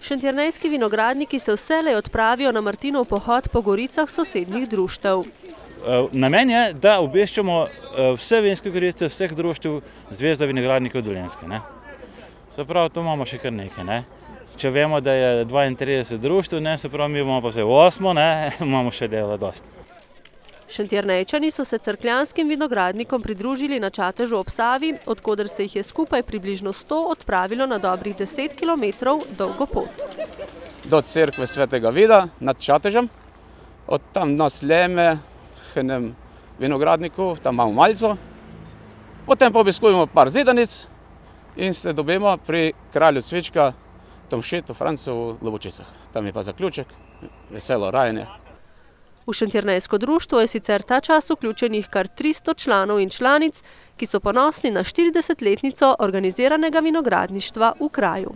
Šentjernejski vinogradniki se vselej odpravijo na Martinov pohod po goricah sosednjih društev. Namen je, da obveščamo vse vinske gorice, vseh društev Zveza vinogradnikov Dolenjske. Se pravi, to imamo še kar nekaj. Če vemo, da je 32 društev, se pravi, mi bomo pa vse 8, imamo še dela dosti. Šentjernejčani so se cerkljanskim vinogradnikom pridružili na Čatežu ob Savi, od koder se jih je skupaj približno 100 odpravilo na dobrih 10 kilometrov dolgo pot. Do cerkve Svetega Vida nad Čatežem, od tam na Sljeme, k enem vinogradniku, tam imamo malico, potem pa obiskujemo par zidanic in se dobimo pri kralju cvička Tomšetu Francu v Lobočicah. Tam je pa zaključek, veselo rajanje. V Šentjernejsko društvo je sicer ta čas vključenih kar 300 članov in članic, ki so ponosni na 40-letnico organiziranega vinogradništva v kraju.